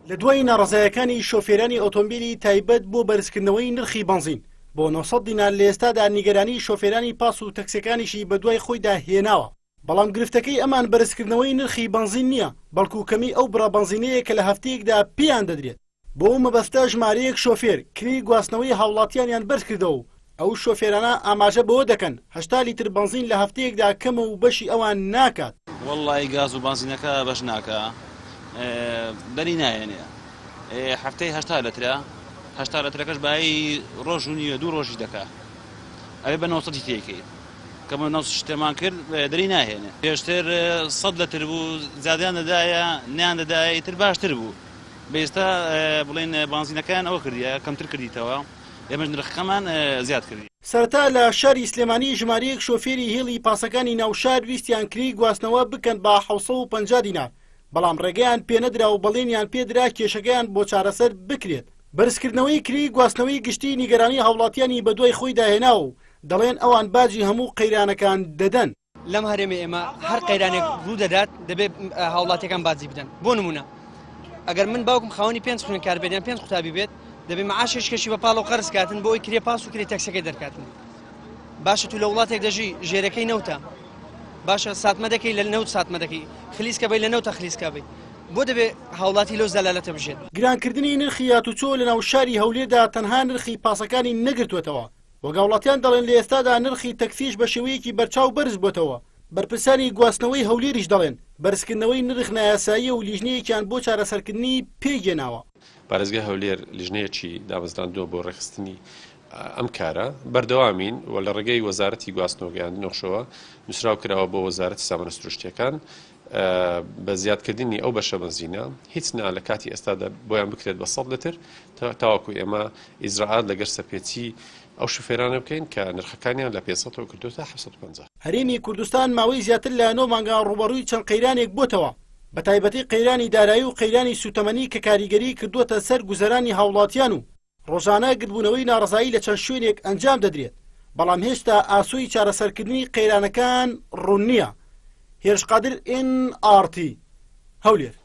لە دوای ناڕەزایەکانی شۆفێرانی ئۆتۆمبیلی تایبەت بۆ بەرزکردنەوەی نرخی بەنزین بۆ 900 دینار لە ئێستادا نیگەرانی شۆفێرانی پاس و تەکسیەکانیشی بەدوای خۆیدا هێناوە، بەڵام گرفتەکەی ئەمان بەرزکردنەوەی نرخی بەنزین نییە، بەڵکو کەمی ئەو بڕە بەنزینەیە کە لە هەفتەیەکدا پێیان دەدرێت. بۆ ئەو مەبەستە ژمارەیەک شۆفێر کرێی گواستنەوەی هاوڵاتیانیان بەرزکردەوە و ئەو شۆفێرانە ئاماژە بەوە دەکەن 80 لیتر بەنزین لە هەفتەیەکدا کەمە و بەشی ئەوان ناکات. وەڵڵاهی گاز و بەنزینەکە بەش ناکا بەری نایەنێ هەفتەی 80 لەترە 80 لەترەکەش بایی ڕۆژ و نیوە دوو ڕۆژی دەکا ئەوێ بە 900 تێکەی کە بە 900 شتێمان کرد دەری ناهێنێ پێشتر 100 لەتر بوو زیادیان دەدایە نیان دەدایە ئیتر باشتر بوو بە ئێستا بڵێن بانزینەکەیان ئەوە کردیە کەمتر کردیتەوە ئێمەش نرخەکەمان زیاد کردی. سەرەتا لە شاری سلێمانی ژمارەیەک شۆفێری هێڵی پاسەکانی ناو شار ویستیان کرێی گواستنەوە بکەن بە 750 دینار، بەڵام ڕێگەیان پێنەدرا و بەڵێنیان پێدرا کێشەکەیان بۆ چارەسەر بکرێت. بەرزکردنەوەی کرێی گواستنەوەی گشتی نیگەرانی هاوڵاتیانی بەدوای خۆیدا هێناوە و دەڵێن ئەوان باجی هەموو قەیرانەکان دەدەن. لەم هەرێمەی ئێمە هەر قەیرانێک ڕوو دەدات دەبێت هاوڵاتیەکان باجی بدەن بۆ نمونە ئەگەر من باوکم خاوەنی پێنج خوێندکار بێت یان پێنج قوتابی بێت دەبێت معاشێک کەشی بە پاڵ و قەرز کاتن بۆ ئەوی کرێ پاس و کرێ تەکسەکەی دەرکاتن باشە تو لە وڵاتێک دەژی ژێرەکەی نەوتە باشە ساتمە دەکەی لە نەوت ساتمە دەکەی خلیسکە بی لە نەوتە خلیسکە بی بۆ دەبێ هاوڵاتی لەو زەلالەتە بژێت. گرانکردنی نرخی هاتوچۆ لەناو شاری هەولێردا تەنها نرخی پاسەکانی نەگرتووەتەوە، وەک هاوڵاتیان دەڵێن لە ئێستادا نرخی تەکسیش بە شێوەیەکی بەرچاو بەرزبووەتەوە، بەرپرسانی گواستنەوەی هەولێریش دەڵێن، بەرزکردنەوەی نرخ نایاساییە و لیژنەیەکیان بۆ چارەسەرکردنی پێکهێناوە. پارێزگای هەولێر لیژنەیەکی دامەزراندووە بۆ ڕێکخستنی ئەم کارە، بەردەوامین و لە ڕێگەی وەزارەتی گواستنەوە گەیاندنەوەشەوە نووسراو کراوە بۆ وەزارەتی سامانە سروشتییەکان بە زیادکردنی ئەو بەشە بەنزینە هیچ نا لە کاتی ئێستادا بۆیان بکرێت بە 100 لتر تاوەکو ئێمە ئیجرائات لەگەر سەرپێچی ئەو شوفێرانە بکەین کە نرخەکانیان لە 500 ەوە کردووەتە 750. هەرێمی کوردستان ماوەی زیاتر لە نۆ مانگە ڕووبەڕووی چەند قەیرانێک بۆتەوە، بەتایبەتی قەیرانی دارایی و قەیرانی سووتەمەنی کە کاریگەریی کردووەتە سەر گوزەرانی هاوڵاتیان و ڕۆژانە گردبوونەوەی ناڕەزایی لە چەند شوێنێک ئەنجام دەدرێت، بەڵام هێشتا ئاسۆی چارەسەرکردنی قەیرانەکان ڕوون نییە. هێرش قادر، ئێن ئاڕ تی، هەولێر.